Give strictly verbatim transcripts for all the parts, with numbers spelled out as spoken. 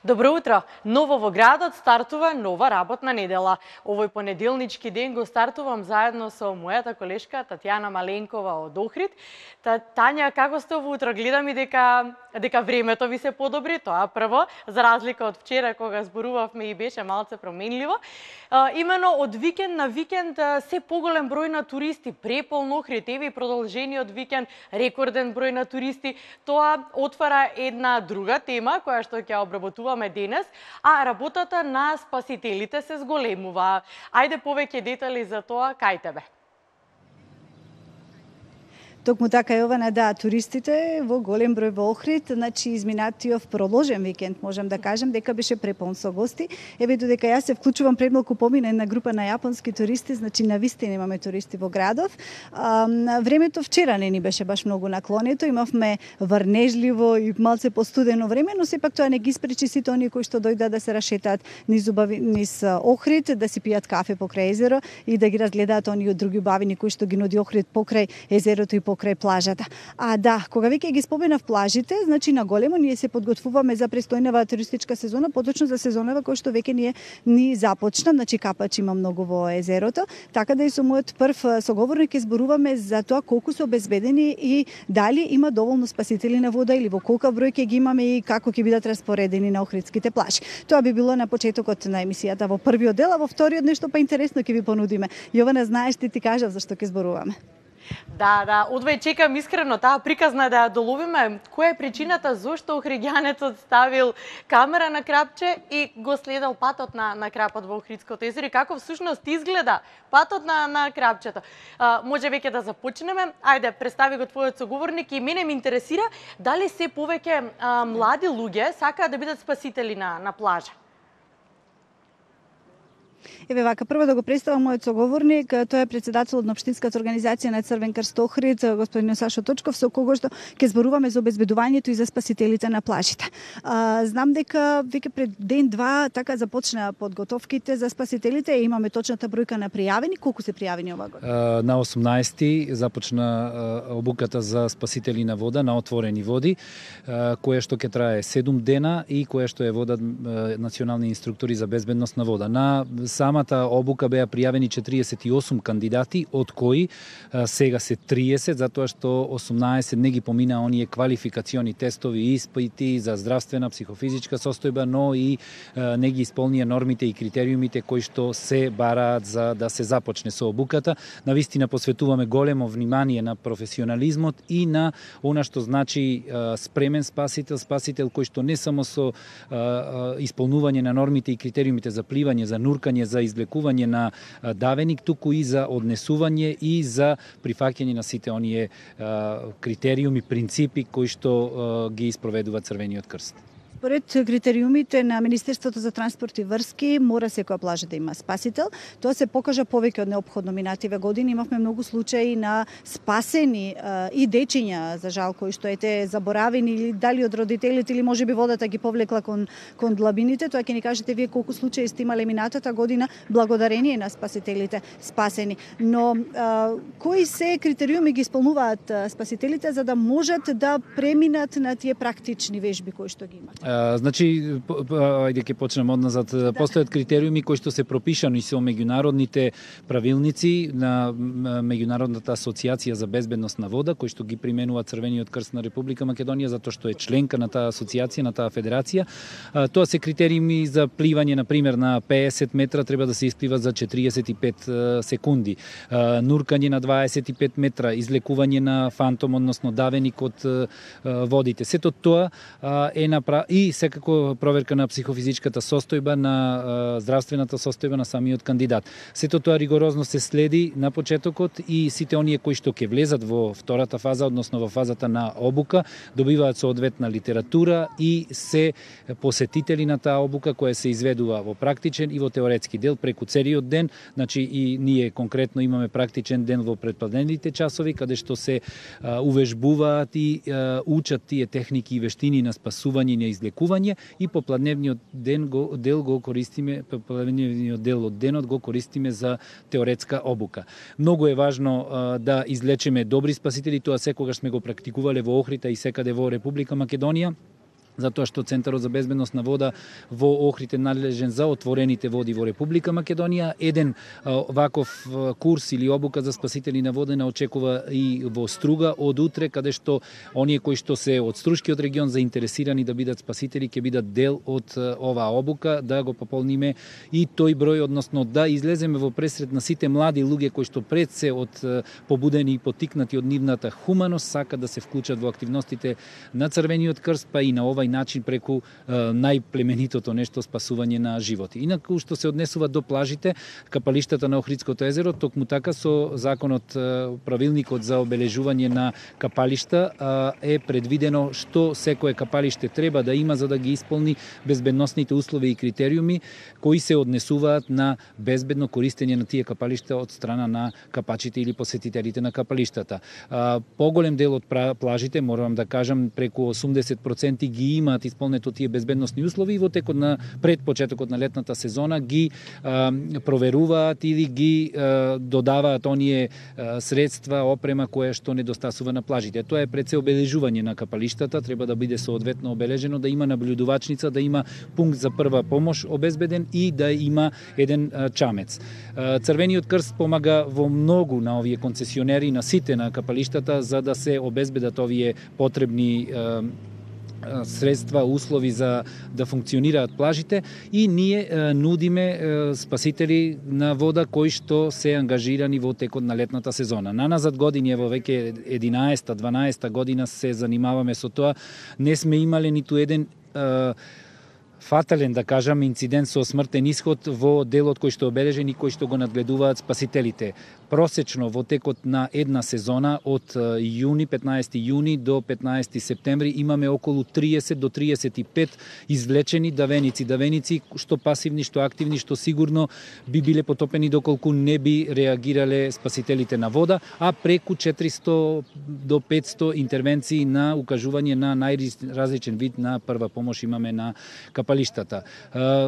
Добро утро! Ново во градот стартува нова работна недела. Овој понеделнички ден го стартувам заедно со мојата колешка Татјана Маленкова од Охрид. Та, Тања, како сте ово утро? Гледам и дека дека времето ви се подобри, тоа прво, за разлика од вчера кога зборувавме и беше малце променливо. А, имено од викенд на викенд се поголем број на туристи, преполн Охрид, еве и продолжениот викенд, рекорден број на туристи. Тоа отвара една друга тема која што ќе обработуваме денес, а работата на спасителите се зголемува. Ајде повеќе детали за тоа кај тебе. Токму така, Јована, да, туристите во голем број во Охрид, значи изминатиот продолжен викенд, можам да кажам, дека беше преполн со гости. Еве додека јас се вклучувам пред малку помина една група на јапонски туристи, значи навистина имаме туристи во градот. А, времето вчера не ни беше баш многу наклонето, имавме врнежливо и малце постудено време, но сепак тоа не ги спречи сите оние кои што дојдат да се рашетаат низ убави низ Охрид, да си пијат кафе покрај езеро и да ги разгледаат оние други убавини кои што ги нуди Охрид покрај езерото и покрај плажата. А да, кога веќе ги споменав плажите, значи на големо ние се подготвуваме за престојнава туристичка сезона, поточно за сезонава која што веќе ние ни започна, значи капач има многу во езерото, така да и со мојот прв соговорник ќе зборуваме за тоа колку се обезбедени и дали има доволно спасители на вода или во колку број ќе ги имаме и како ќе бидат распоредени на охридските плажи. Тоа би било на почетокот на емисијата во првиот дел, а во вториот нешто па интересно ќе ви понудиме. Јована, знаеш, ти ти кажав зашто ќе зборуваме. Да, да, одвај чекам искрено таа приказна да ја доловиме. Која е причината зошто охридјанецот ставил камера на крапче и го следел патот на на крапот во Охридското езеро и како всушност изгледа патот на на крапчето. А, може веќе да започнеме. Ајде, представи го твојот соговорник и мене ме интересира дали се повеќе а, млади луѓе сакаат да бидат спасители на на плажа. Еве вака, прво да го представам мојот соговорник, тој е претседателот на општинската организација на Црвен крст Охрид, господин Сашо Точков, со кого што ќе зборуваме за обезбедувањето и за спасителите на плажите. А, знам дека веќе пред ден-два така започна подготовките за спасителите, имаме точната бројка на пријавени, колку се пријавени оваа година? На осумнаесети започна обуката за спасители на вода на отворени води, која што ќе трае седум дена и која што е водат национални инструктори за безбедност на вода. На самата обука беа пријавени четириесет и осум кандидати, од кои а, сега се триесет, затоа што осумнаесет не ги помина оние квалификациони тестови и испити за здравствена, психофизичка состојба, но и а, не ги исполнија нормите и критериумите кои што се бараат за да се започне со обуката. Навистина посветуваме големо внимание на професионализмот и на она што значи а, спремен спасител, спасител кој што не само со а, а, исполнување на нормите и критериумите за пливање, за нуркање, за извлекување на давеник, туку и за однесување и за прифаќање на сите оние а, критериуми, принципи кои што а, ги испроведува Црвениот крст. Според критериумите на Министерството за транспорт и врски, мора секоја плажа да има спасител. Тоа се покажа повеќе од неопходно минативе години. Имавме многу случаи на спасени а, и дечиња, за жал, кои што ете заборавени или дали од родителите или можеби водата ги повлекла кон кон длабините. Тоа ќе ни кажете вие колку случаи сте имале минатата година благодарение на спасителите спасени. Но а, кои се критериуми ги исполнуваат а, спасителите за да можат да преминат на тие практични вежби кои што ги имат? Uh, значи, ајде ќе почнем одназад. Да. Постојат критериуми кои што се пропишани со меѓународните правилници на Меѓународната асоциација за безбедност на вода, кои што ги применува Црвениот крст на Република Македонија, затоа што е членка на таа асоциација, на таа федерација. Uh, тоа се критериуми за пливање, на пример, на пеесет метра треба да се исплива за четириесет и пет uh, секунди. Uh, нуркање на дваесет и пет метра, излекување на фантом, односно давеник од uh, водите. Сето тоа uh, е направено и секако проверка на психофизичката состојба, на а, здравствената состојба на самиот кандидат. Сето тоа ригорозно се следи на почетокот и сите оние кои што ќе влезат во втората фаза, односно во фазата на обука, добиваат соодветна литература и се посетители на таа обука која се изведува во практичен и во теоретски дел преку целиот ден. Значи и ние конкретно имаме практичен ден во предпладневните часови каде што се а, увежбуваат и а, учат тие техники и вештини на спасување и на излекување и попладневниот ден го дел го користиме, попладневниот дел од денот го користиме за теоретска обука. Многу е важно а, да излечеме добри спасители, тоа секогаш сме го практикувале во Охрита и секаде во Република Македонија. затоа што Центарот за безбедност на вода во Охрид е надлежен за отворените води во Република Македонија. Еден ваков курс или обука за спасители на вода не очекува и во Струга од утре, каде што оние кои што се од Струшкиот регион заинтересирани да бидат спасители ќе бидат дел од оваа обука, да го пополниме и тој број, односно да излеземе во пресред на сите млади луѓе кои што пред се од побудени и потикнати од нивната хуманост сака да се вклучат во активностите на Црвениот крст, па и на ова начин преку е, најплеменитото нешто спасување на животи. Инаку што се однесува до плажите, капалиштата на Охридското езеро, токму така со законот, правилникот за обележување на капалишта е предвидено што секое капалиште треба да има за да ги исполни безбедносните услови и критериуми кои се однесуваат на безбедно користење на тие капалишта од страна на капачите или посетителите на капалиштата. Поголем дел од плажите, морам да кажам, преку осумдесет проценти ги имаат исполнето тие безбедносни услови и во текот на пред почетокот на летната сезона ги а, проверуваат или ги а, додаваат оние а, средства, опрема која што недостасува на плажите. Тоа е пред се обележување на капалиштата, треба да биде соодветно обележено, да има наблюдувачница, да има пункт за прва помош обезбеден и да има еден а, чамец. А, Црвениот крст помага во многу на овие концесионери, на сите на капалиштата, за да се обезбедат овие потребни а, средства, услови за да функционираат плажите и ние е, нудиме е, спасители на вода кои што се ангажирани во текот на летната сезона. На назад години, во веќе единаесета дванаесета година се занимаваме со тоа, не сме имале ниту еден е, фатален, да кажам, инцидент со смртен исход во делот кој што обележен и кој што го надгледуваат спасителите. Просечно во текот на една сезона од јуни, петнаесети јуни до петнаесети септември имаме околу триесет до триесет и пет извлечени давеници, давеници што пасивни, што активни, што сигурно би биле потопени доколку не би реагирале спасителите на вода, а преку четиристо до петсто интервенции на укажување на најразличен вид на прва помош имаме на капалиштата.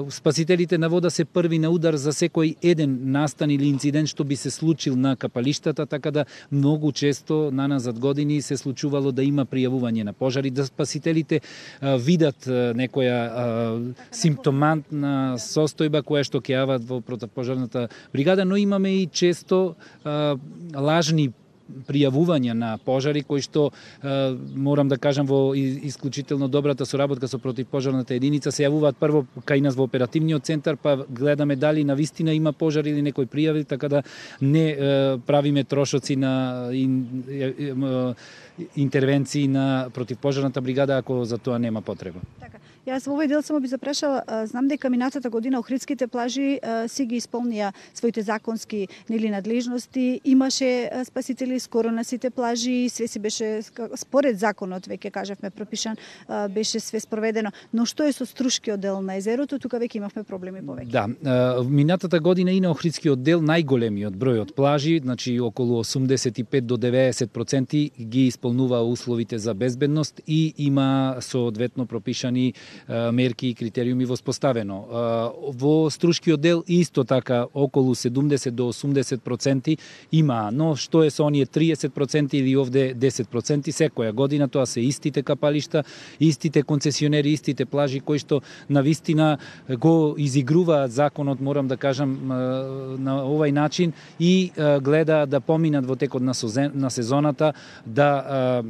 Спасителите на вода се први на удар за секој еден настан или инцидент што би се случил на капалиштата, така да многу често на назад години се случувало да има пријавување на пожари, да спасителите а, видат а, некоја а, симптомантна состојба која што ќе јават во противпожарната бригада, но имаме и често а, лажни пријавувања на пожари кои што е, морам да кажам во исклучително добрата соработка со противпожарната единица се јавуваат прво кај нас во оперативниот центар, па гледаме дали навистина има пожар или некој пријави, така да не е, правиме трошоци на ин, е, е, интервенции на противпожарната бригада ако за тоа нема потреба. Така. Јас во овој дел само би запрашала, знам дека минатата година Охридските плажи си ги исполнија своите законски нели надлежности, имаше спасители скоро на сите плажи, све си беше според законот, веќе кажавме пропишан, беше све спроведено. Но што е со Струшкиот дел на езерото, тука веќе имавме проблеми повеќе. Да, минатата година и на Охридскиот дел најголемиот број од плажи, значи околу осумдесет и пет до деветдесет проценти ги исполнува условите за безбедност и има соодветно пропишани мерки и критериуми воспоставено. Во Струшкиот дел исто така околу седумдесет до осумдесет проценти има, но што е со оние триесет проценти или овде десет проценти секоја година, тоа се истите капалишта, истите концесионери, истите плажи кои што навистина го изигруваат законот, морам да кажам, на овај начин и гледа да поминат во текот на сезоната, да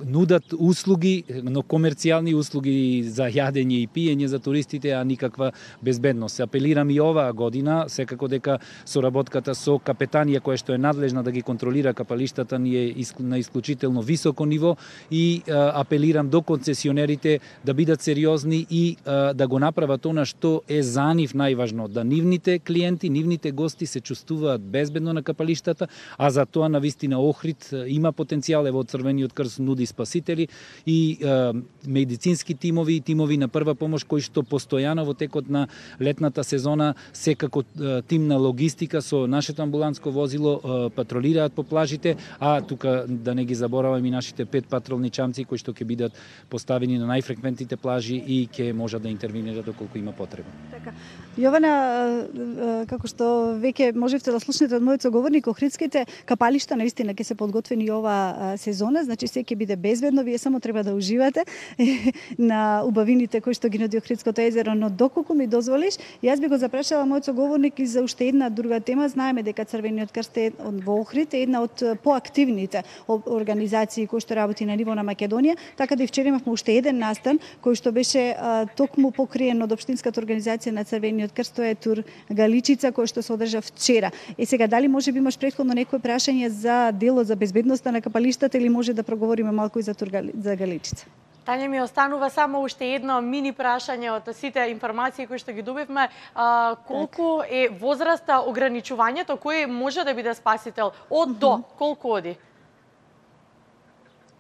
нудат услуги, но комерцијални услуги за јадење и пиење за туристите, а никаква безбедност. Апелирам и оваа година, секако дека соработката со капетанија која што е надлежна да ги контролира капалиштата ни е на исклучително високо ниво и а, апелирам до концесионерите да бидат сериозни и а, да го направат она што е за нив најважно, да нивните клиенти, нивните гости се чувствуваат безбедно на капалиштата, а за тоа навистина Охрид има потенцијал, ево Црвениот крст нуди спасители и е, медицински тимови и тимови на прва помош кои што постојано во текот на летната сезона секако е, тим на логистика со нашето амбуланско возило е, патролираат по плажите, а тука да не ги забораваме и нашите пет патролни чамци кои што ќе бидат поставени на најфреквентните плажи и ќе можат да интервенираат доколку има потреба. Така. Јована, како што веќе можевте да слушнете од мојот соговорник, Охридските капалишта наистина ќе се подготвени ова сезон сезона, значи се ќе биде безбедно, вие само треба да уживате на убавините кои што ги нуди Охридското езеро, но доколку ми дозволиш, јас би го запрашала мојот соговорник и за уште една друга тема. Знаеме дека Црвениот крст е во Охрид е една од поактивните организации кои што работи на ниво на Македонија, така да и вчера имавме уште еден настан кој што беше а, токму покриен од општинската организација на Црвениот крст, тоа е тур Галичица кој што се одржа вчера. Е сега дали може би имаш претходно некој прашање за делот за безбедноста на капалиштата или може да проговориме малку и за тур за Галичица? Тања, ми останува само уште едно мини прашање од сите информации кои што ги добивме. А, колку е возраста, ограничувањето, кој може да биде спасител? Од до, колку оди?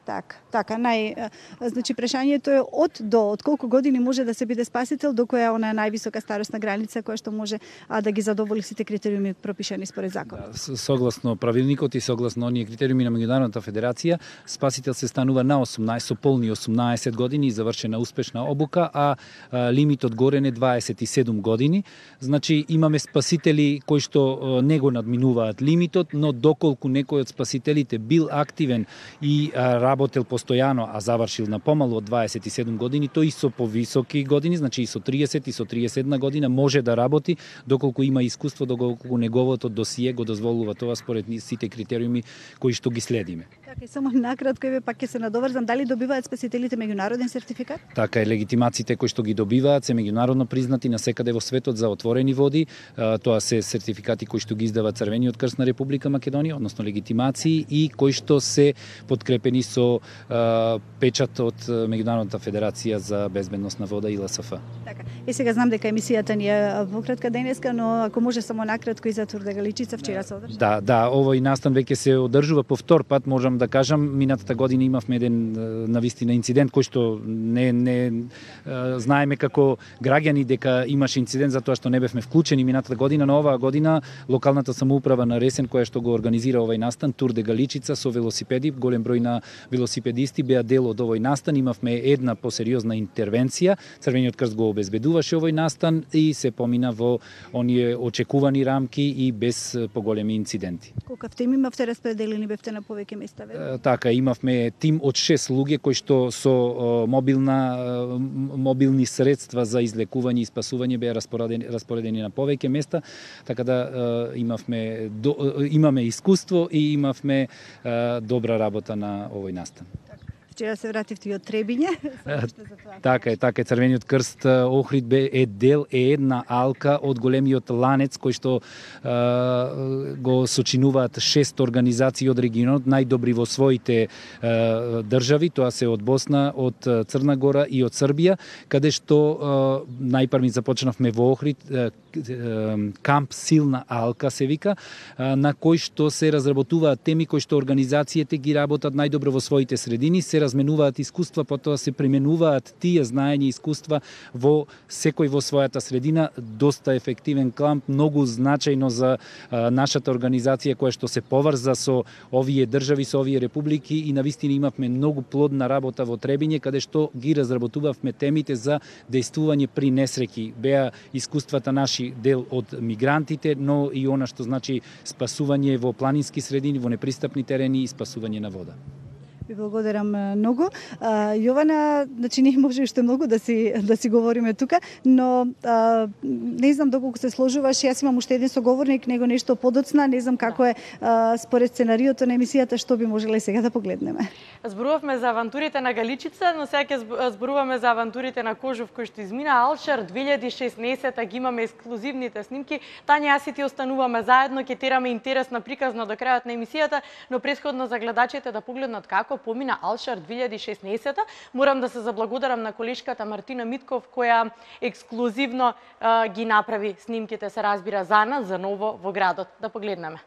Так, така, нај, значи прашањето е од до, од колку години може да се биде спасител, до која е она највисока старосна граница која што може а, да ги задоволи сите критериуми пропишани според законот. Да, согласно правилникот и согласно оние критериуми на Меѓународната федерација, спасител се станува на осумнаесет, со полни осумнаесет години и завршена успешна обука, а, а лимитот горен е дваесет и седум години. Значи имаме спасители кои што не го надминуваат лимитот, но доколку некој од спасителите бил активен и а, работел постојано, а завршил на помалу од дваесет и седум години, тој и со повисоки години, значи и со триесет и со триесет и една година може да работи доколку има искуство, доколку неговото досие го дозволува тоа според сите критериуми кои што ги следиме. Така, и само накратко еве пак ќе се надоврзам, дали добиваат спасителите меѓународен сертификат? Така е, легитимациите кои што ги добиваат се меѓународно признати насекаде во светот за отворени води. Тоа се сертификати кои што ги издава Црвениот крст на Република Македонија, односно легитимации и кои што се подкрепени со печат од Меѓународната федерација за безбедност на вода и Ел Ес Ф. Така. И сега знам дека емисијата ни е во кратка денеска, но ако може само накратко и за тур Галичица вчера се одржа. Да, да, овој настан веќе се одржува по втор пат, можам да кажам. Минатата година имавме еден навистина инцидент кој што не не знаеме како граѓани дека имаше инцидент затоа што не бевме вклучени минатата година, но оваа година локалната самоуправа на Ресен која што го организира овој настан тур де Галичица со велосипеди, голем број на велосипедисти беа дел од овој настан. Имавме една посериозна интервенција. Црвениот крст го обезбедуваше овој настан и се помина во оние очекувани рамки и без поголеми инциденти. Колкав тим имавте распределени, бевте на повеќе места, ве? Така, имавме тим од шест луѓе кои што со мобилна мобилни средства за излекување и спасување беа распоредени, распоредени на повеќе места, така да имавме имаме искуство и имавме добра работа на овој настан. Вчера се вративте и од Требиње. Така е, така е. Црвениот крст Охрид бе е дел е една алка од големиот ланец кој што е, го сочинуваат шест организации од регионот, најдобри во своите е, држави, тоа се од Босна, од Црна Гора и од Србија, каде што е, најпрви започнавме во Охрид е, камп Силна алка се вика, на кој што се разработуваат теми кои што организациите ги работат најдобро во своите средини, се разменуваат искуства, потоа се применуваат тие знаења и искуства во секој во својата средина. Доста ефективен камп, многу значајно за а, нашата организација која што се поврза со овие држави, со овие републики и навистина имавме многу плодна работа во Требиње, каде што ги разработувавме темите за дејствување при несреќи. Беа искуствата наши дел од мигрантите, но и она што значи спасување во планински средини, во непристапни терени и спасување на вода. Ви благодарам многу. А, Јована, значи не може уште многу да си да си говориме тука, но а, не знам доколку се сложуваш, јас имам уште еден соговорник, него нешто подоцна, не знам како е а, според сценариото на емисијата, што би можеле сега да погледнеме. Зборувавме за авантурите на Галичица, но сега ќе зборуваме за авантурите на Кожув кој што измина Алшер две илјади и шеснаесетта, ги имаме ексклузивните снимки. Тања, јас и ти остануваме заедно, ќе тераме интересна приказна до крајот на емисијата, но претходно за гледачите да погледнат како помина Алшер две илјади и шеснаесетта. Морам да се заблагодарам на колешката Мартина Митков која ексклузивно а, ги направи снимките, се разбира, за нас, за ново во градот. Да погледнеме.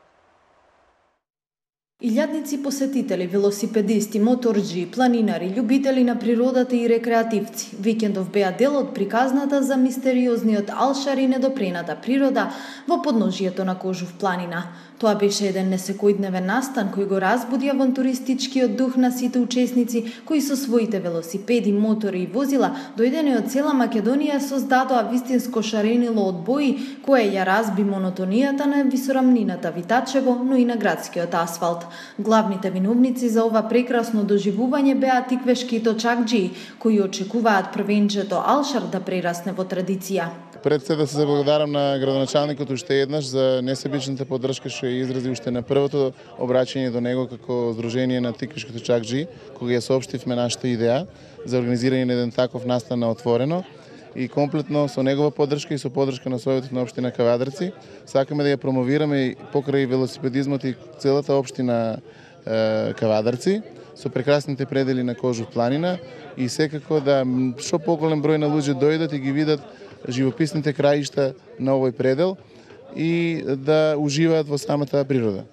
Илјадници посетители, велосипедисти, моторџи, планинари, љубители на природата и рекреативци. Викендов беа дел од приказната за мистериозниот Алшер и недопрената природа во подножието на Кожув планина. Тоа беше еден несекојдневен настан кој го разбуди авантуристичкиот дух на сите учесници кои со своите велосипеди, мотори и возила дојдени од цела Македонија создадоа вистинско шаренило од бои кое ја разби монотонијата на висорамнината Витачево, но и на градскиот асфалт. Главните виновници за ова прекрасно доживување беа тиквешки точакџи, кои очекуваат првенчето Алшар да прерасне во традиција. Пред се да се заблагодарам на градоначалникот уште еднаш за несебичната поддршка што ја изрази уште на првото обраќање до него како Сдружение на тиквешки точакџи, кога ја соопштивме нашата идеја за организирање на еден таков настан на отворено и комплетно со негова поддршка и со поддршка на Советот на општина Кавадарци сакаме да ја промовираме покрај велосипедизмот и целата општина е, Кавадарци со прекрасните предели на Кожух планина и секако да што поголем број на луѓе дојдат и ги видат живописните краишта на овој предел и да уживаат во самата природа.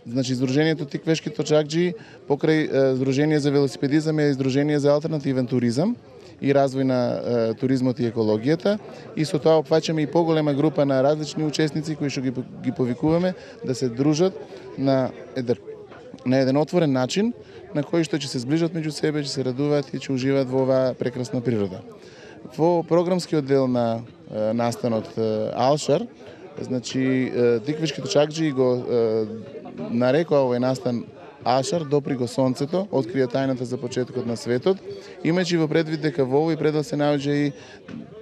Значи, Сдружението Тиквешки точакџи покрај Сдружение за велосипедизам е Сдружение за алтернативен туризам и развој на е, туризмот и екологијата и со тоа опфаќаме и поголема група на различни учесници кои што ги, ги повикуваме да се дружат на еден, на еден отворен начин на кој што ќе се зближат меѓу себе, ќе се радуваат и ќе уживаат во оваа прекрасна природа. Во програмскиот дел на е, настанот е, Алшар, значи тиквешки точакџи го е, нарекоа овој настан Алшар, допри го сонцето, открија тајната за почетокот на светот, имајќи во предвид дека во овој предел се наоѓа и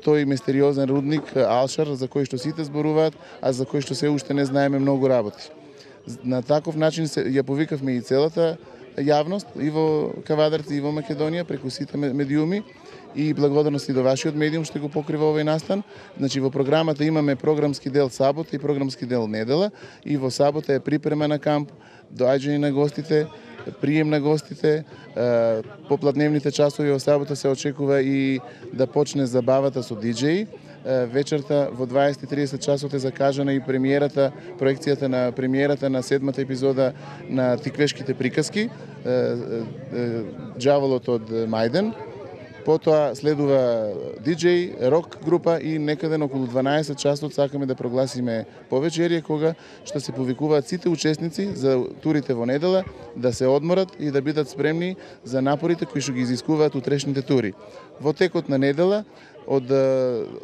тој мистериозен рудник Алшар за кој што сите зборуваат, а за кој што се уште не знаеме многу работи. На таков начин се, ја повикавме и целата јавност и во Кавадарци и во Македонија преку сите медиуми и благодарности до вашиот медиум што го покрива овој настан. Значи во програмата имаме програмски дел сабота и програмски дел недела и во сабота е припрема на камп, доаѓање на гостите, прием на гостите, поплатневните часови во сабота се очекува и да почне забавата со диџеи. Вечерта во дваесет и тридесет часот е закажана и премиерата, проекцијата на премиерата на седмата епизода на Тиквешките приказки, Ѓаволот од Мајден. Потоа следува диџеј, рок група и некаде на околу дванаесет часот сакаме да прогласиме повечерие кога што се повикуваат сите учесници за турите во недела да се одморат и да бидат спремни за напорите кои што ги изискуваат утрешните тури. Во текот на недела од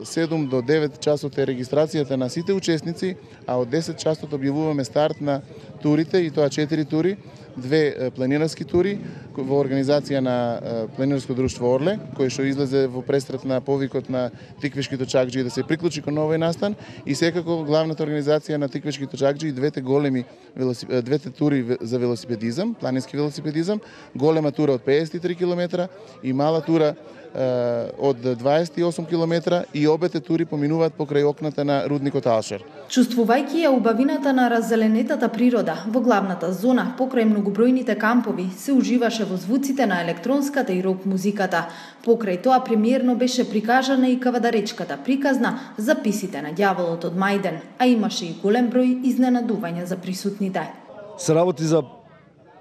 седум до девет часот е регистрацијата на сите учесници, а од десет часот објавуваме старт на турите и тоа четири тури, две планинарски тури во организација на планинарско друштво Орле, кој што излезе во престрет на повикот на Тиквешки точакџи да се приклучи кон овој настан и секако главната организација на Тиквешки точакџи и двете големи двете тури за велосипедизам, планински велосипедизам, голема тура од педесет и три километра и мала тура од дваесет и осум километра и обете тури поминуваат покрај окната на рудникот Алшар. Чувствувајќи ја убавината на раззеленетата природа во главната зона покрај многобројните кампови, се уживаше во звуците на електронската и рок музиката. Покрај тоа премиерно беше прикажана и кавадаречката приказна Записите на ѓаволот од Мајден, а имаше и голем број изненадувања за присутните. Се работи за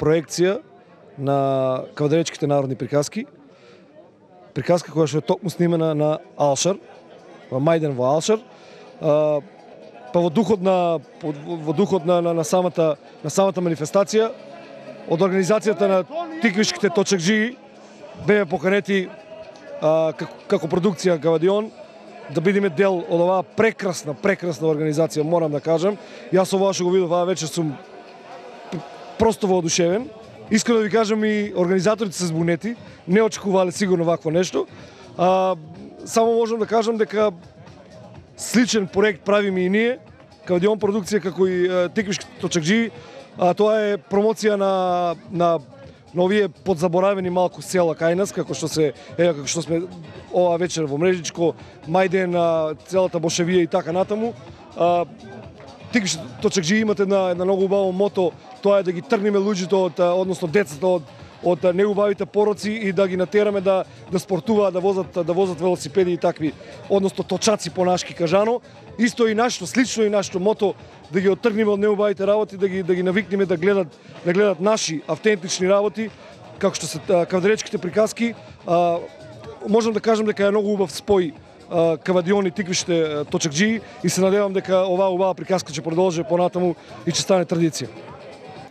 проекција на кавадаречките народни приказки, приказка која што е токму снимена на Алшар, во Мајден во Алшар, па во духот на во духот на, на, на самата на самата манифестација од организацијата на Тиквешките точакџи беа поканети а, како, како продукција Кавадион да бидеме дел од оваа прекрасна прекрасна организација, морам да кажам. Јас ова што го видов оваа вечер сум просто воодушевен. Искрено да ви кажам и организаторите се збунети, не очекувале сигурно вакво нешто. А, само можам да кажам дека сличен проект правиме и ние, Кавадион продукција како и Тиквешки точакџи, а тоа е промоција на на на овие подзаборавени малку села кај нас, како што се е како што сме ова вечер во Мрежичко, Мајден, целата Бошевија и така натаму. А, Тиквешки точакџи имат една една многу убаво мото, тоа е да ги тргнеме луѓето од, односно децата од од неубавите пороци и да ги натераме да да спортуваат, да возат да возат велосипеди и такви, односно точаци по нашки кажано. Исто и нашто, слично и нашто мото да ги оттргнеме од неубавите работи, да ги да ги навикнеме да гледат да гледат наши автентични работи, како што се кавадаречките приказки. А, можам да кажам дека е многу убав спој Кавадион и Тиквешките точакџи и се надевам дека оваа убава приказка ќе продолжи понатаму и ќе стане традиција.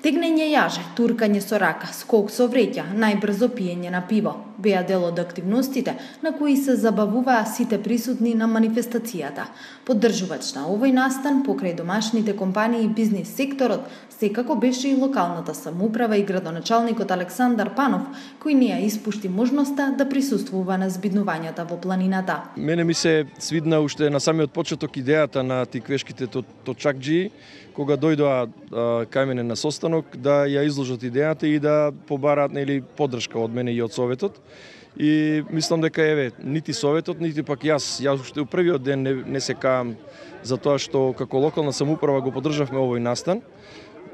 Тегнење јаже, туркање со рака, скок со вреќа, најбрзо пиење на пиво. беа дел од активностите на кои се забавуваа сите присутни на манифестацијата. Поддржувач на овој настан покрај домашните компании и бизнис секторот секако беше и локалната самоуправа и градоначалникот Александар Панов, кој не ја испушти можноста да присуствува на збиднувањата во планината. Мене ми се свидна уште на самиот почеток идејата на тиквешките точакџи, кога дојдоа кај мене на состанок, да ја изложат идејата и да побараат нели поддршка од мене и од Советот. И мислам дека еве нити Советот, нити пак јас, јас уште у првиот ден не, не се каам за тоа што како локална самоуправа го поддржавме овој настан.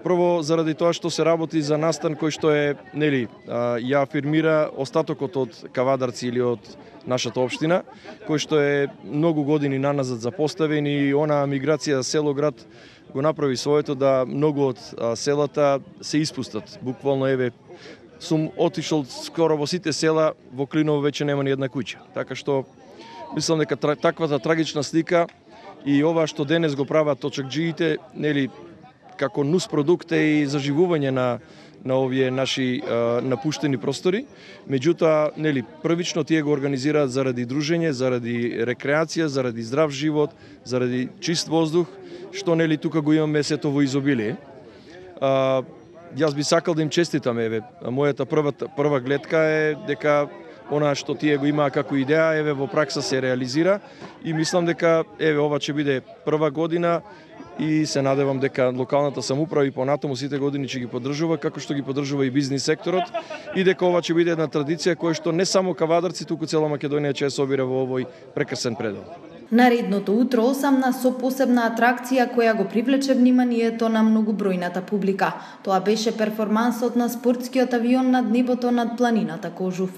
Прво заради тоа што се работи за настан кој што е, нели, ја афирмира остатокот од кавадарци или од нашата општина, кој што е многу години наназад запоставен и онаа миграција село-град го направи своето да многу од селата се испустат. Буквално еве сум отишол скоро во сите села, во Клиново веќе нема ни една куќа. Така што мислам дека таквата трагична слика и ова што денес го прават точакџиите, нели, како нус продукт е и заживување на на овие наши а, напуштени простори. Меѓутоа, нели, првично тие го организираат заради дружење, заради рекреација, заради здрав живот, заради чист воздух, што нели тука го имаме сето во изобилие. А, јас би сакал да им честитам, еве, мојата прва прва гледка е дека она што тие го имаа како идеја, еве во пракса се реализира и мислам дека еве ова ќе биде прва година и се надевам дека локалната самоуправа и понатаму сите години ќе ги поддржува, како што ги поддржува и бизнис секторот, и дека ова ќе биде една традиција која што не само кавадарци, туку цела Македонија ќе се собира во овој прекрасен предел. Наредното утро осамна со посебна атракција која го привлече вниманието на многобројната публика. Тоа беше перформансот на спортскиот авион над небото над планината Кожув.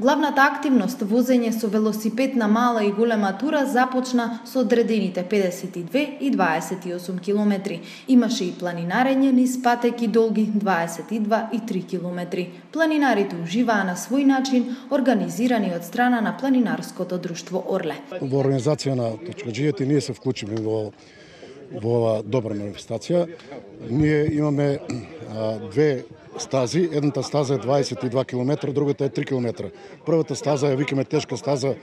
Главната активност, возење со велосипед на мала и голема тура, започна со одредените педесет и две и дваесет и осум километри. Имаше и планинарење низ патеки долги дваесет и два и три километри. Планинарите уживаа на свој начин, организирани од страна на планинарското друштво Орле. Во организација на точакџиите ние се вклучиме во во ова добра манифестација. Ние имаме а, две стази, едната стаза е дваесет и два километра, другата е три километра. Првата стаза ја викаме тешка стаза,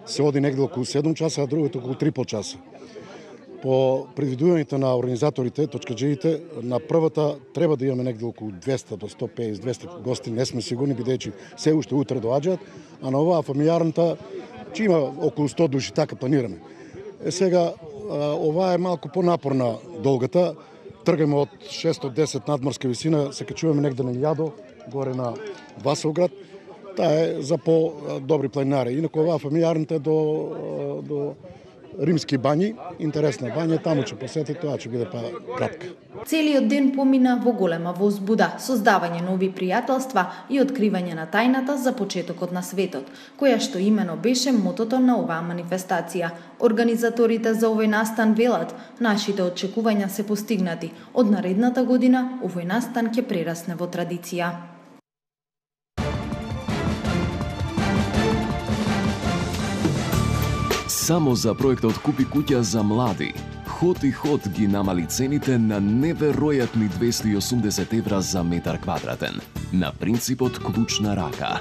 се оди негде околу седум часа, а другата околу три и по часа. По предвидувањето на организаторите, точакџиите, на првата треба да имаме негде околу двесте до сто песет двесте гости, не сме сигурни, бидејќи се уште утре доаѓаат, а на оваа фамилијарната ќе има околу сто души, така планираме. Е сега, ова е малку понапорна долгата. Тргаме од шестстотини и десет надморска висина, се качуваме негде на илјада, горе на Василград. Таа е за по-добри планинари. Инаку оваа фамилијарната е до, до Римски бањи, интересна бања, таму ќе посети, тоа ќе биде па кратка. Целиот ден помина во голема возбуда, создавање нови пријателства и откривање на тајната за почетокот на светот, која што имено беше мотото на оваа манифестација. Организаторите за овој настан велат, нашите очекувања се постигнати. Од наредната година овој настан ќе прерасне во традиција. Само за проектот Купи куќа за млади, Ход и Ход ги намали цените на неверојатни двесте и осумдесет евра за метар квадратен, на принципот клуч на рака.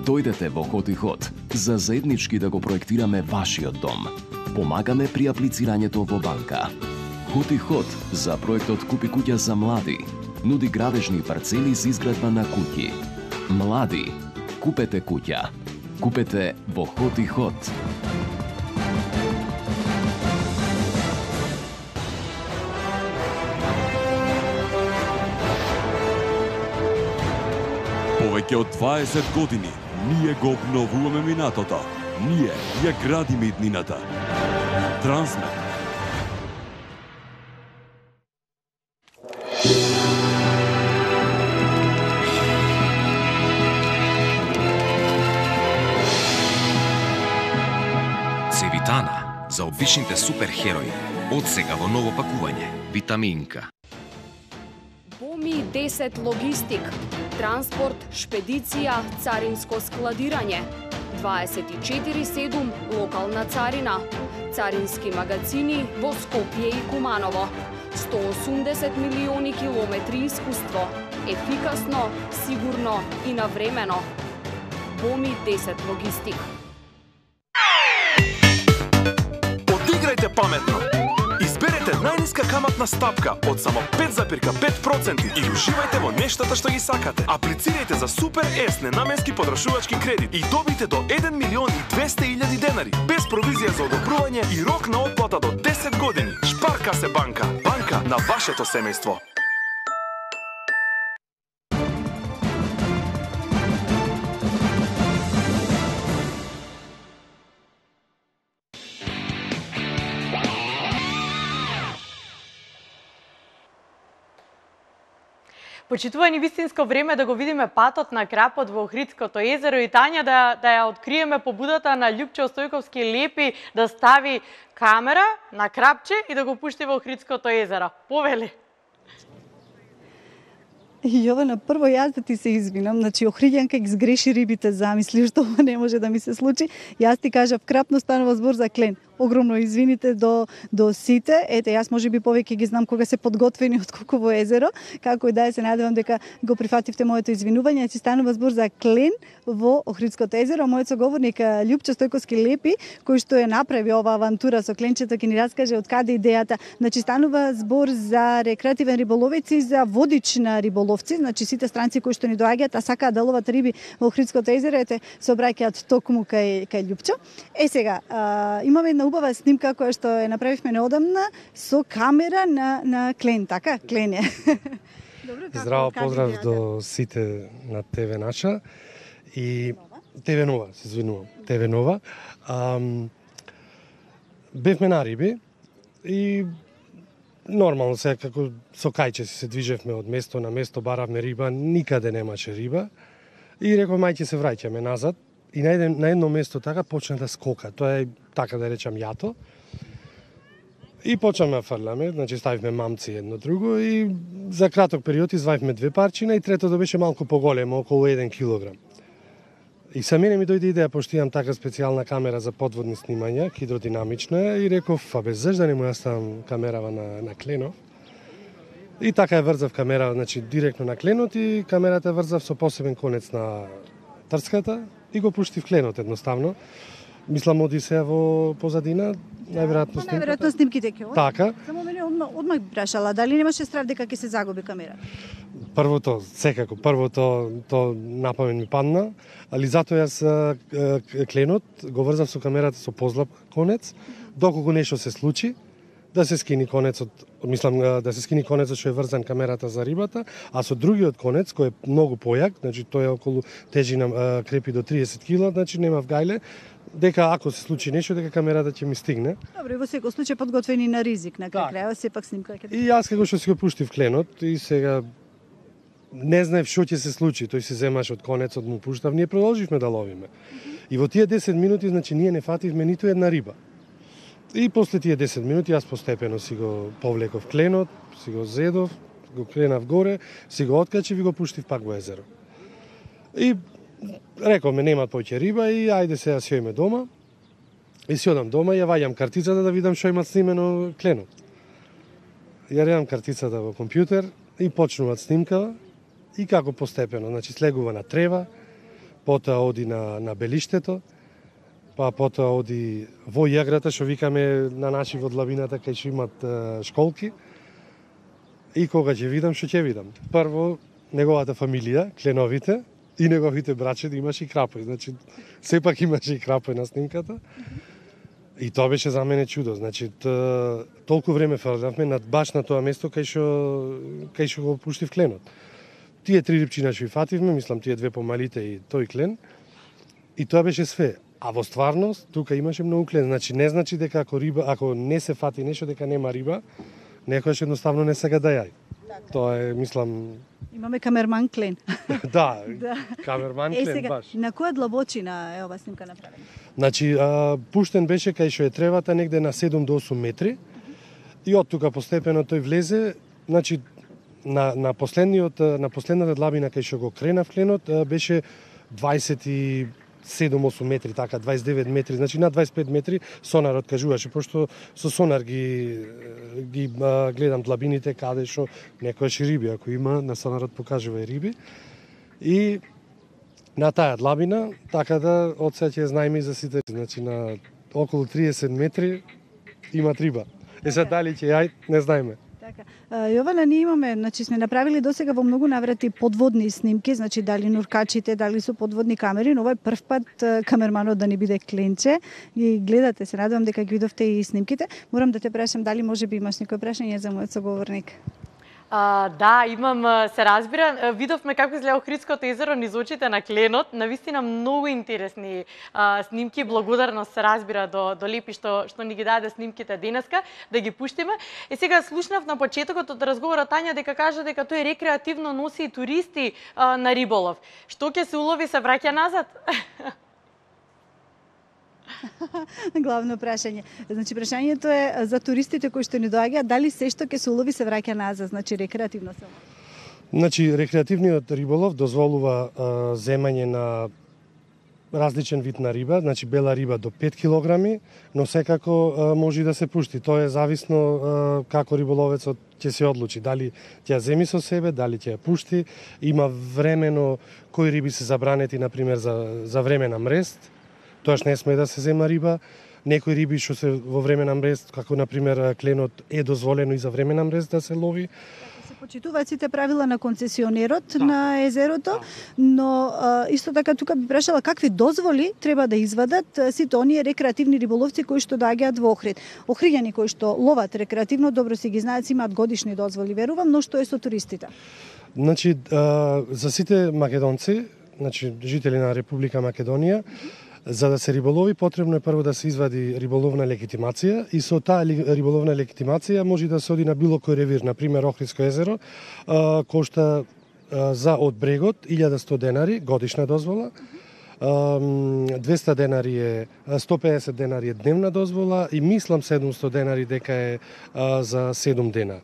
Дојдете во Ход и Ход за заеднички да го проектираме вашиот дом. Помагаме при аплицирањето во банка. Ход и Ход за проектот Купи куќа за млади нуди градежни парцели за изградба на куќи. Млади, купете куќа. Купете во Ход и Ход. Повеќе од дваесет години ние го обновуваме минатото. Ние ја градиме иднината. Трансмет. Цевитана за обичните суперхерои. Од сега во ново пакување. Витаминка. Боми десет логистик, транспорт, шпедиција, царинско складирање, дваесет и четири седум локална царина, царински магазини во Скопје и Куманово, сто осумдесет милиони километри искуство, ефикасно, сигурно и навремено. Боми десет логистик. Одиграјте паметно. Изберете најниска каматна стапка од само пет запирка пет проценти и уживајте во нештата што ги сакате. Аплицирајте за Супер С ненаменски потрашувачки кредит и добите до еден милион и двесте илјади денари, без провизија за одобрување и рок на отплата до десет години. Шпарка се банка, банка на вашето семејство. Почитувани, вистинско време да го видиме патот на крапот во Охридското езеро и Тања да, да ја откриеме побудата на Љупчо Стојковски Лепи да стави камера на крапче и да го пушти во Охридското езеро. Повели. Јована, прво јас да ти се извинам, значи Охриѓанка ги сгреши рибите, замисли што ова не може да ми се случи. Јас ти кажав крапно станува збор за клен. Огромно извините до до сите. Ете, јас можеби повеќе ги знам кога се подготвени од колку во езеро, како и да е, се надевам дека го прифативте моето извинување. Значи станува збор за клен во Охридското езеро. Мојот соговорник Љупчо Стојковски Лепи, кој што е направи оваа авантура со кленчето, ќе ни раскаже од каде идејата. Значи станува збор за рекреативен риболовец и за водична риболовци, значи сите странци кои што ни доаѓаат, а сакаат да ловат риби во Охридското езеро, ете, се обраќаат токму кај кај Љупчо. Е сега, а, имаме една убава снимка која што ја направивме неодамна со камера на на клен, така? Клен е. Добро, како, здраво, поздрав идејата до сите на ТВ Наша и ТВ Нова, се извинувам, ТВ Нова. Ам, бевме на риби и нормално се како со кајче си се движевме од место на место, баравме риба, никаде немаше риба и реков мајќе се враќаме назад. И на, еден, на едно место така почна да скока. Тоа е, така да речам, јато. И почнаме да фрламе, значи ставивме мамци едно друго и за краток период изваивме две парчина и третото беше малку поголемо, околу еден килограм. И са мене ми дојде идеја, пошто имам така специјална камера за подводни снимања, хидродинамична, и реков, абе, зашто да не му ја ставам камерава на, на кленов? И така ја врзав камера, значи, директно на кленот и камерата врзав со посебен конец на трската, и го пуштив кленот едноставно. Мислам оди се во позадина, најверојатно снимката. Најверојатно снимките ќе оди. Така. Само мене одмах, одмах прашала, дали немаше страв дека ќе се загуби камера? Првото, секако, првото то напамен ми падна, али затоа јас кленот го врзав со камерата со позлап конец, доколку нешто се случи, да се скини конецот, мислам да се скини конецот што е врзан камерата за рибата, а со другиот конец кој е многу појак, значи тој е околу тежина крепи до триесет кила, значи нема вгајле, дека ако се случи нешто дека камерата ќе ми стигне. Добро, и во секој случај подготвени на ризик на крај крајот, сепак снимка ќе. И јас како што си го пуштив кленот и сега не знаев што ќе се случи, тој се земаш од конецот, му пуштав, ние продолживме да ловиме. И во тие десет минути, значи ние не фативме ниту една риба. И после тие десет минути јас постепено си го повлеков кленот, си го зедов, го кренав горе, си го откачив и го пуштив пак во езеро. И рековме нема повеќе риба и ајде сега си ојме дома. И си одам дома и ја ваѓам картицата да видам што има снимено кленот. Ја редам картицата во компјутер и почнуваат снимкава и како постепено, значи слегува на трева, потоа оди на на белиштето, па потоа оди во јаграта, што викаме на наши во длабината, кај што имат е, школки. И кога ќе видам, што ќе видам? Прво, неговата фамилија, кленовите, и неговите браче да имаше и крапој. Значи, сепак имаше и крапој на снимката. И тоа беше за мене чудо. Значи, толку време фрлавме над баш на тоа место кај што кај што го пуштив кленот. Тие три рибчина што фативме, мислам тие две помалите и тој клен. И тоа беше све. А во стварност тука имаше многу клен. Значи не значи дека ако риба, ако не се фати нешто дека нема риба, некојаш едноставно не сака да јај. Тоа е, мислам... Имаме камерман клен. Да, да. камерман е, клен, сега, баш. На која длабочина е ова снимка направена? Значи, а, пуштен беше кај што е тревата негде на седум до осум метри. И од тука постепено тој влезе, значи, на, на, последниот, на последната длабина кај што го кренав кленот беше дваесет и седум осум метри, така, дваесет и девет метри, значи на дваесет и пет метри сонарот кажуваше, пошто со сонар ги, ги а, гледам длабините каде што некојаш риби, ако има, на сонарот покажува и риби. И на таа длабина, така да од сега ќе знаеме и за сите, значи на околу триесет метри има риба. Е сега дали ќе јај, не знаеме. Така. Јована, ние имаме, значи сме направили досега во многу наврати подводни снимки, значи дали нуркачите, дали со подводни камери, но овој прв пат камерманот да ни биде Кленче. И гледате, се надевам дека ги видовте и снимките. Морам да те прашам дали може би имаш некој прашање за мојот соговорник. А, да, имам, се разбира. Видовме како изгледа Охридското езеро низ очите на Кленот. Навистина многу интересни а, снимки. Благодарност се разбира до, до Лепи што, што ни ги даде снимките денеска, да ги пуштиме. И сега слушнав на почетокот од разговорот Тања дека кажа дека тој рекреативно носи и туристи а, на риболов. Што ќе се улови се враќа назад? Главно прашање. Значи прашањето е за туристите кои што ни доаѓаат, дали се што ќе се улови се враќа назад, значи рекреативно само. Значи рекреативниот риболов дозволува а, земање на различен вид на риба, значи бела риба до пет килограми, но секако а, може да се пушти. Тоа е зависно а, како риболовецот ќе се одлучи, дали ќе ја земи со себе, дали ќе ја пушти. Има времено кои риби се забранети, на пример за за време на мрест. Тоаш не сме да се зема риба. Некои риби што се во време на мрест, како на пример кленот, е дозволено и за време на мрест да се лови. Се почитуваат сите правила на концесионерот да. на езерото, да. но а, исто така тука би прашала какви дозволи треба да извадат сите оние рекреативни риболовци кои што доаѓаат во Охрид. Охриѓани кои што ловат рекреативно, добро си ги знаат, имаат годишни дозволи, верувам, но што е со туристите? Значи, а, за сите македонци, значи жители на Република Македонија, за да се риболови, потребно е прво да се извади риболовна легитимација и со таа риболовна легитимација може да се оди на било кој ревир, на пример Охридско езеро, а, кошта а, за од брегот илјада и сто денари годишна дозвола, а, двесте денари е сто педесет денари е дневна дозвола и мислам седумсто денари дека е а, за седум дена.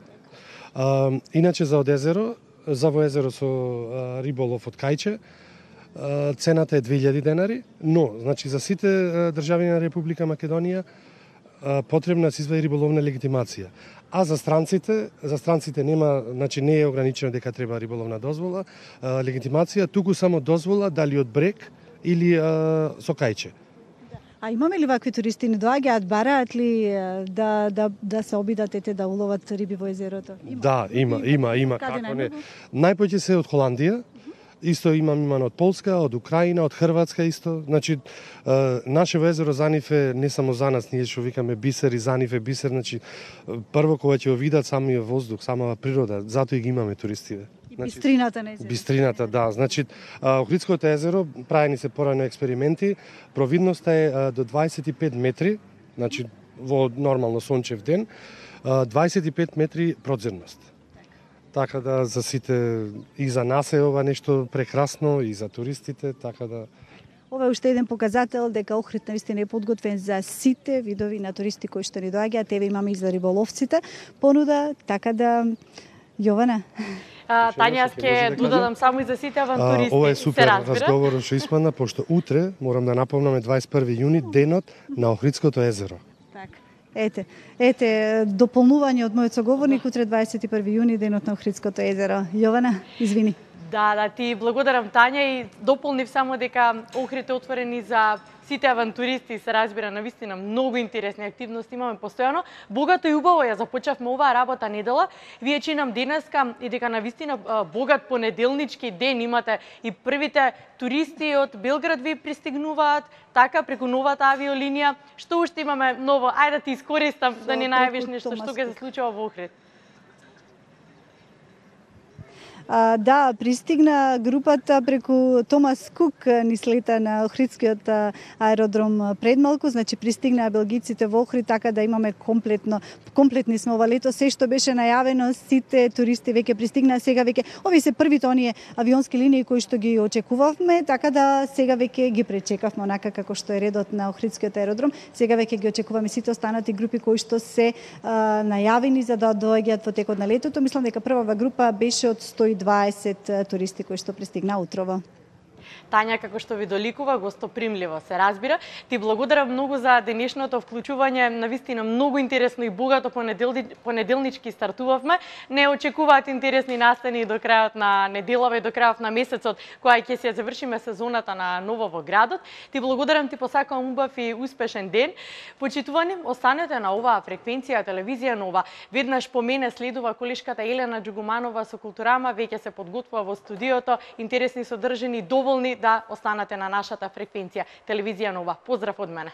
А, иначе за од езеро, за во езеро со а, риболов од кајче, цената е две илјади денари, но значи за сите држави на Република Македонија потребна се извади риболовна легитимација. А за странците, за странците нема, значи не е ограничено дека треба риболовна дозвола, легитимација, туку само дозвола дали од брег или а, со кајче. А имаме ли вакви туристи, не доаѓаат, бараат ли да, да, да се обидат ете да уловат риби во езерото? Има. Да, има, има, има, како не. Најпоќе се од Холандија, исто имам иман од Полска, од Украина, од Хрватска исто. Значи, нашето езеро за нив е не само за нас, ние што викаме бисер и за нив е бисер, значи прво кога ќе го видат самиот воздух, самава природа, затоа и ги имаме туристите. И значи, бистрината на езеро. Бистрината, да. Значи, Охридското езеро, правени се порано експерименти, провидноста е до дваесет и пет метри, значи во нормално сончев ден, дваесет и пет метри продзерност. Така да за сите и за нас е ова нешто прекрасно и за туристите, така да ова е уште еден показател дека Охрид наистина е подготвен за сите видови на туристи кои што ни доаѓаат, еве имаме и за риболовците понуда, така да Јована. А, Тања, ќе додадам само и за сите авантуристи. А, ова е супер разговорот што испадна, пошто утре, морам да напомнам, е дваесет и први јуни, денот на Охридското езеро. Ете, ете, дополнување од мојот соговорник, утре дваесет и први јуни, денот на Охридското езеро. Јована, извини. Да, да, ти благодарам, Тања, и дополнив само дека Охрид е отворен и за сите авантуристи, се разбира, навистина многу интересни активности имаме постојано. Богато и убаво ја започнавме оваа работа недела. Вие чинам денеска и дека навистина богат понеделнички ден имате и првите туристи од Белград ви пристигнуваат, така преку новата авиолинија. Што уште имаме ново? Ајде да ти искористам да ни најавиш нешто што ќе се случува во Охрид. А, да, пристигна групата преку Томас Кук ни слета на Охридскиот аеродром пред малку, значи пристигнаа белгиците во Охрид, така да имаме комплетно, комплетни сме ова лето, се што беше најавено, сите туристи веќе пристигнаа, сега веќе, овие се првите оние авионски линии кои што ги очекувавме, така да сега веќе ги пречекавме онака како што е редот на Охридскиот аеродром, сега веќе ги очекуваме сите останати групи кои што се а, најавени за да доаѓаат во текот на летото. Мислам дека првава група беше од сто и дваесет туристи кои што пристигнаа утрово. Тања, како што ви доликува, гостопримливо се разбира. Ти благодарам многу за денешното вклучување, навистина многу интересно и богато понеделни, понеделнички стартувавме. Не очекуваат интересни настани до крајот на неделава и до крајот на месецот, која ќе се завршиме сезоната на Ново во градот. Ти благодарам, ти посакувам убав и успешен ден. Почитувани, останете на оваа фреквенција телевизија Нова. Веднаш по мене следува колешката Елена Џугуманова со Културама, веќе се подготвува во студиото, интересни содржини, доволни да останете на нашата фреквенција телевизија Нова. Поздрав од мене.